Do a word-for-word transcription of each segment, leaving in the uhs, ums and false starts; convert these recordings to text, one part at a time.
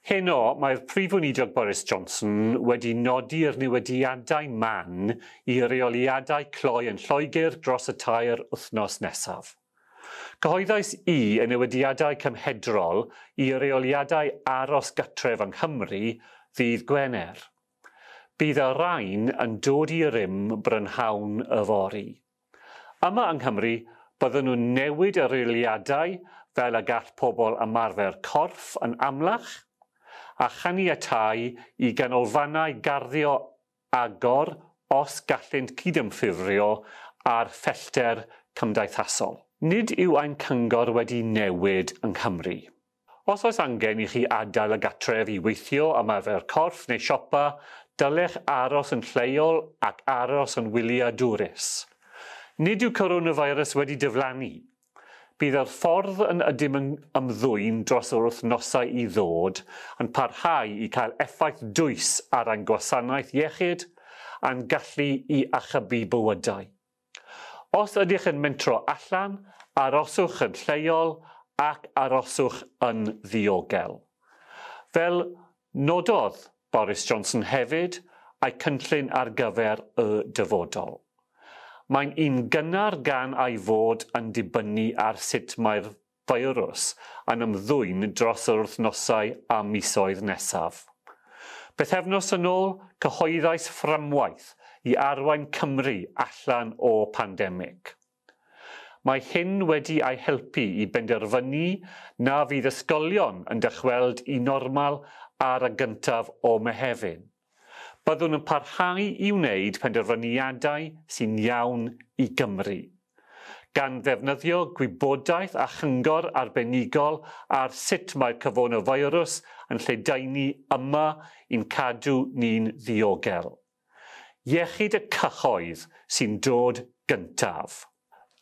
Heno, mae'r Prif Weinidog Boris Johnson wedi nodi'r newidiadau man i reoliadau cloi yn Lloegr dros y tair wythnos nesaf. Cyhoeddais i y newidiadau cymhedrol i reoliadau aros gartref yng Nghymru ddydd Gwener. Bydd y rhain yn dod i rym brynhawn yfory. Yma yng Nghymru, byddwn nhw'n newid y reoliadau fel y gall pobl ymarfer corff yn amlach a chaniatáu i ganolfannau garddio agor os gallant cydymffurfio â'r pellter cymdeithasol. Nid yw ein cyngor wedi newid yng Nghymru. Os oes angen i chi adael y gartref i weithio, ymarfer corff neu siopa, dylech aros yn lleol ac aros yn wyliadwrus. Nid yw coronavirus wedi diflannu. Bydd yr ffordd yn ydym yn ymddwyn dros yr wythnosau i ddod yn parhau i cael effaith dwys ar ein gwasanaeth iechyd a'n gallu i achubu bywydau. Os ydych yn mentro allan, aroswch yn lleol ac aroswch yn ddiogel. Fel nododd Boris Johnson hefyd, a'i cynllun ar gyfer y dyfodol. Mae'n un gynnar gan ei fod yn dibynnu ar sut mae'r feirws yn ymddwyn dros yr wythnosau a misoedd nesaf. Bythefnos yn ôl, cyhoeddais fframwaith i arwain Cymru allan o pandemig. Mae hyn wedi ei helpu i benderfynu na fydd ysgolion yn dychweld i normal ar y gyntaf o Mehefin. Byddwn yn parhau i wneud penderfyniadau sy'n iawn i Gymru, gan ddefnyddio gwybodaeth a chyngor arbenigol ar sut mae'r coronavirus yn lledaenu yma i'n cadw ni'n ddiogel. Iechyd y cyhoedd sy'n dod gyntaf.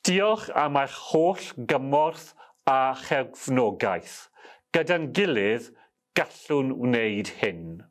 Diolch am eich holl gymorth a chefnogaeth. Gyda'n gilydd, gallwn wneud hyn.